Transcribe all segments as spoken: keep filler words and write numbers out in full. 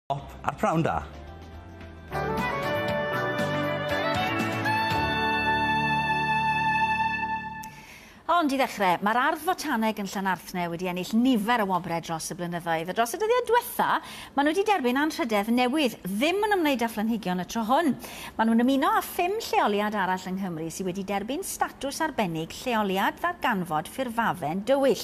Ar Prawn Da. Ond i ddechrau, mae'r Ardd Fotaneg yn Llanarthne wedi ennill nifer o wobrau dros y blynyddoedd. A dros y dyddiau diwetha, maen nhw wedi derbyn anrhydedd newydd, ddim yn ymwneud â phlanhigion y tro hwn. Maen nhw'n ymuno â phum lleoliad arall yng Nghymru sydd wedi derbyn statws arbennig lleoliad ddarganfod ffurfafen dywyll.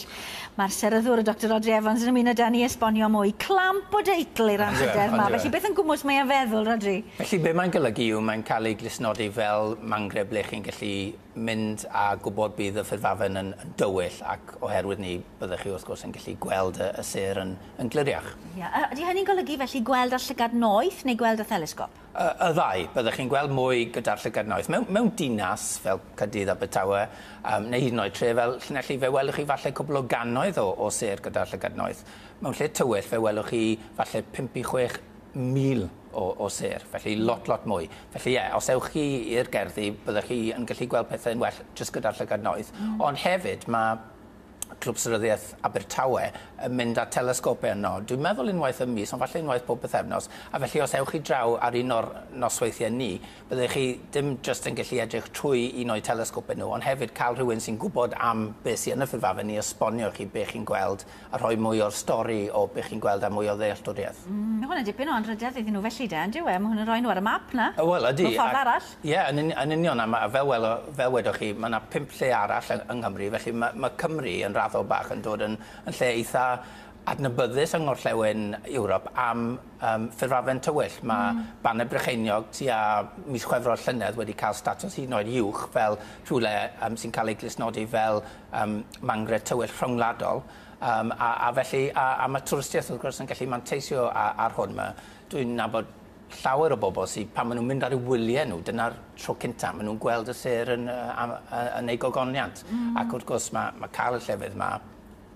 Mae'r seryddwr y Doctor Rhodri Evans yn ymuno â ni esbonio mwy. Clamp o deitl i'r anrhydedd yma. Felly beth yn gwmws mae e'n feddwl, Rhodri? Felly be mae'n golygu yw mae'n cael ei glustnodi fel mangre ble chi'n gallu mynd a gwybod bydd y ffurfafen yn, yn dywyll, ac oherwydd ni byddwch chi wrth gwrs yn gallu gweld y, y sêr yn, yn gliriach. Ia, ydy hynny'n golygu felly gweld â llygad noeth neu gweld â thelesgop? Y, y ddau, byddwch chi'n gweld mwy gyda'r llygad noeth. Mewn, mewn dinas fel Caerdydd, Abertawe, um, neu hyd yn oed tre fel Llanelli, fe welwch chi falle cwpl o gannoedd o, o sêr gyda'r llygad noeth. Mewn lle tywyll fe welwch chi falle pump i chwech mil o, o sêr, felly lot, lot mwy. Felly ie, os ewch chi i'r gerddi, byddwch chi yn gallu gweld pethau'n well jyst gyda'r llygad noeth. Mm. Ond hefyd, mae Clwb Seryddiaeth Abertawe yn mynd â telesgopau yno. Dwi'n meddwl unwaith y mis, ond falle unwaith pob pythefnos. A felly os ewch chi draw ar un o'r nosweithiau ni, byddwch chi dim jyst yn gallu edrych trwy un o'i telesgopau nhw, ond hefyd cael rhywun sy'n gwybod am beth sy'n yn y ffurfafen i esbonio chi beth chi'n gweld a rhoi mwy o'r stori o beth chi'n gweld a mwy o ddealltwriaeth. Mm, mae hwnna'n dipyn o anrhydedd iddyn nhw felly de, yn dyw e? Mae hwnna'n rhoi nhw ar y map na. Wel, ydy. Mewn ffordd arall. Ie, yn, yn union. A ma, fel, wel, fel wedoch chi, mae yna pump lle arall yng, yng Nghymru, felly mae, mae Cymru yn raddol bach yn dod yn, yn lle eitha adnabyddus yng Ngorllewin Ewrop am um, ffurfafen tywyll. Mae mm. Bannau Brycheiniog tua mis Chwefror llynedd wedi cael statws hyd yn oed uwch fel rhywle um, sy'n cael ei glustnodi fel um, mangre tywyll rhyngwladol. Um, a, a felly, a, a mae twristiaeth wrth gwrs yn gallu manteisio ar, ar hwn. Ma, dwi'n nabod llawer o bobl sydd, pan maen nhw'n mynd ar eu wyliau nhw, dyna'r tro cynta, maen nhw'n gweld y sêr yn, yn, yn ei gogoniant. Mm. Ac wrth gwrs mae, mae cael y llefydd yma,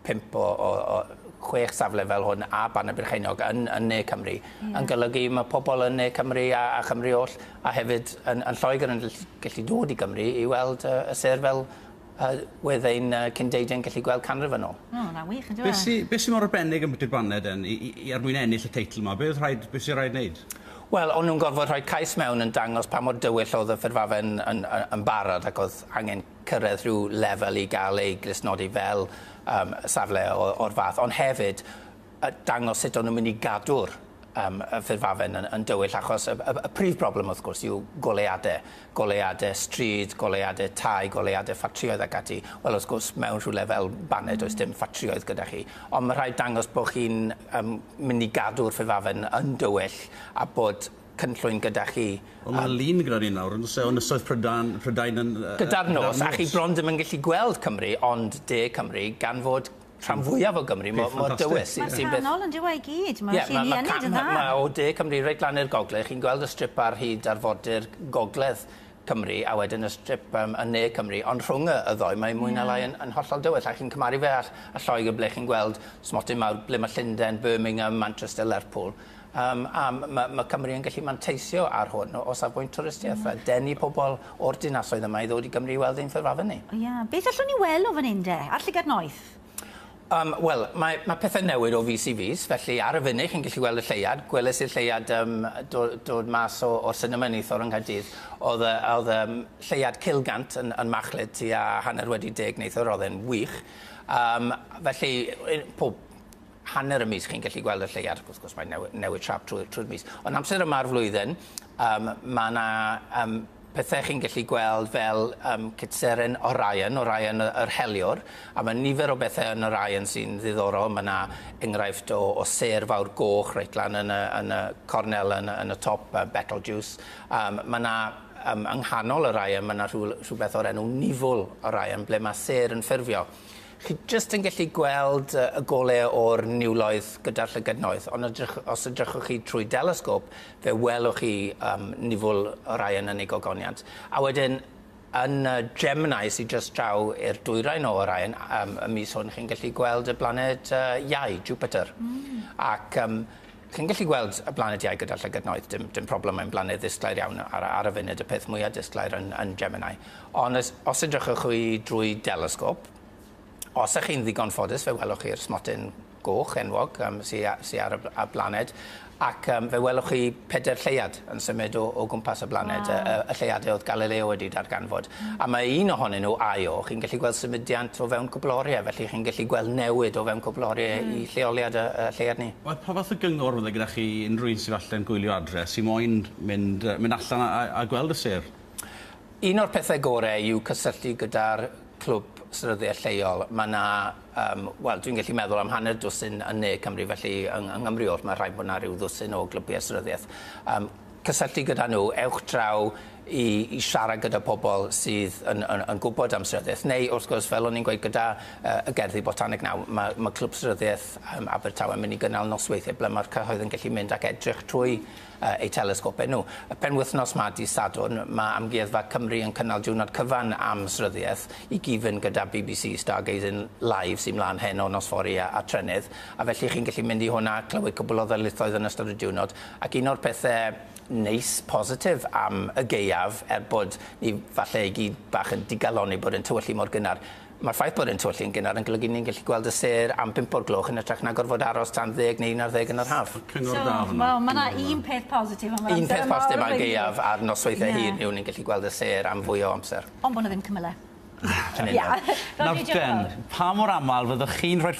pump o, o, o chwech safle fel hwn a Bannau Brycheiniog yn, yn Ne Cymru, yeah. yn golygu mae pobl yn Ne Cymru a, a Chymru oll, a hefyd yn, yn Lloegr yn gallu dod i Gymru i weld uh, y sêr fel uh, wedd ein uh, cyndeidiau'n gallu gweld canrif yn ôl. O, na wych, yn dyw e? Beth sy, beth sy mor arbennig am bwyty'r baned yn, i, i, er mwyn ennill y teitl yma? Beth rhaid, beth sy'n rhaid wneud? Wel, o'n nhw'n gorfod rhoi cais mewn yn dangos pa mor dywyll oedd y ffurfafen yn, yn, yn barod ac oedd angen cyrraedd rhyw lefel i gael ei glustnodi fel um, safle o'r fath. Ond hefyd, dangos sut o'n nhw'n mynd i gadw'r um, y ffurfafen yn, yn dywyll, achos y, y, y prif broblem wrth gwrs yw goleuadau. Goleuadau stryd, goleuadau tai, goleuadau ffatrïoedd ac ati. Wel, wrth gwrs, mewn rhywle fel Baned, does dim ffatrïoedd gyda chi. Ond mae rhaid dangos bod chi'n um, mynd i gadw'r ffurfafen yn dywyll a bod cynllwyn gyda chi. Wel, mae lun gyda ni nawr, yn oes e, o Ynysoedd Prydain, Prydain yn... Gyda'r nos, a chi bron ddim yn gallu gweld Cymru, ond de Cymru, gan fod rhan fwyaf o Gymru mor, mor dywys. Mae'n canol yn dyw e i gyd. Mae'r yeah, lluniau yn dda. Mae o de Cymru reit lan i'r gogledd. Chi'n gweld y strip ar hyd arfordir gogledd Cymru a wedyn y strip um, yn ne Cymru. Ond rhwng y, y ddoi mae mwy na lai yn, yn hollol dywyll. A chi'n cymharu fe â, â Lloegr ble chi'n gweld smotyn mawr ble mae Llundain, Birmingham, Manchester, Lerpwl. Um, a mae ma Cymru yn gallu manteisio ar hwn o, o safbwynt twristiaeth mm. a denu pobl o'r dinasoedd yma i ddod i Gymru i weld ein ffurfafen ni. Ie. Yeah. Beth allwn ni weld o fan hyn de? Ar llygad noeth? Um, Wel, mae, mae pethau newid o fis i fis, felly ar y funud chi'n gallu gweld y lleuad. Gweles i'r lleuad um, dod, dod mas o, o'r sinema neithiwr yng Nghaerdydd. Oedd, oedd um, lleuad Cilgant yn, yn machlud tua hanner wedi deg neithiwr, oedd e'n wych. Um, felly, pob hanner y mis chi'n gallu gweld y lleuad, wrth gwrs mae'n newid, newid siâp trwy'r trwy mis. Ond amser yma'r flwyddyn, um, mae yna um, pethau chi'n gallu gweld fel um, cytseren Orion, Orion yr heliwr, a mae nifer o bethau yn Orion sy'n ddiddorol. Mae yna enghraifft o, o sêr fawr goch reit lan yn y, yn y cornel yn, yn y top, uh, Betelgeuse. Um, mae yna um, yng nghanol Orion, mae yna rhywbeth o'r enw nifwl Orion, ble mae sêr yn ffurfio. Chi jyst yn gallu gweld y golau o'r niwloedd gyda'r llygad noeth, ond edrych, os edrychwch chi trwy delesgop, fe welwch chi um, nifwl Orion yn ei gogoniant. A wedyn, yn uh, Gemini, sydd jyst draw i'r dwyrain o Orion, um, y mis hwn, chi'n gallu gweld y blaned uh, Iau, Jupiter. Mm. Ac um, chi'n gallu gweld y blaned Iau gyda'r llygad noeth, dim, dim problem, mae'n blaned ddisglair iawn ar, ar y funud, y peth mwyaf disglair yn, yn Gemini. Ond os, os edrychwch chi drwy delesgop, os ych chi'n ddigon ffodus, fe welwch chi'r smotyn goch enwog um, sy, sy ar y, y blaned, ac um, fe welwch chi pedair lleuad yn symud o, o gwmpas y blaned, wow. y, y lleuadau oedd Galileo wedi darganfod. Mm. A mae un ohonyn nhw, Io, chi'n gallu gweld symudiant o fewn cwpl oriau, felly chi'n gallu gweld newid o fewn cwpl oriau mm. i lleoliad y, y lleuad ni. Wel, pa fath o gyngor fydde gyda chi unrhyw un sydd falle'n gwylio adre, sy'n moyn mynd, mynd allan a, a gweld y sêr? Un o'r pethau gorau yw cysylltu gyda'r clwb seryddiaeth lleol. Mae yna, um, wel, dwi'n gallu meddwl am hanner dwsin yn Ne Cymru, felly yng, yng Nghymru oll mae rhaid bod yna rhyw ddwsin o glybiau seryddiaeth. Um, cysylltu gyda nhw, ewch draw i, i siarad gyda pobl sydd yn, yn, yn gwybod am seryddiaeth. Neu, wrth gwrs, fel o'n i'n gweud gyda uh, y gerddi botaneg nawr, mae, mae clwb seryddiaeth um, Abertawe yn mynd i gynnal nosweithiau ble mae'r cyhoedd yn gallu mynd ac edrych trwy uh, eu telesgopau nhw. Y penwythnos ma, dydd Sadwrn, mae Amgueddfa Cymru yn cynnal diwrnod cyfan am seryddiaeth i gyd-fynd gyda B B C Stargazing Live sy'n mlaen heno nos fory a, a trenydd. A felly chi'n gallu mynd i hwnna, clywed cwbl o ddarlithoedd yn ystod y diwrnod. Ac un o'r pethau neis, positif am y gaeaf, er bod ni falle i gyd bach yn digalonni bod yn tywyllu mor gynnar. Mae'r ffaith bod yn tywyllu yn gynnar yn golygu ni'n gallu gweld y sêr am bump o'r gloch yn hytrach na gorfod aros tan ddeg neu un ar ddeg yn yr haf. Cyngor da fan'na. Wel, mae yna un peth positif am yr amser. Un peth positif am gaeaf a'r nosweithiau hir yw ni'n gallu gweld y sêr am fwy o amser. Ond bod 'na ddim cymylau. Nawr den, pa mor aml fyddwch chi'n rhoi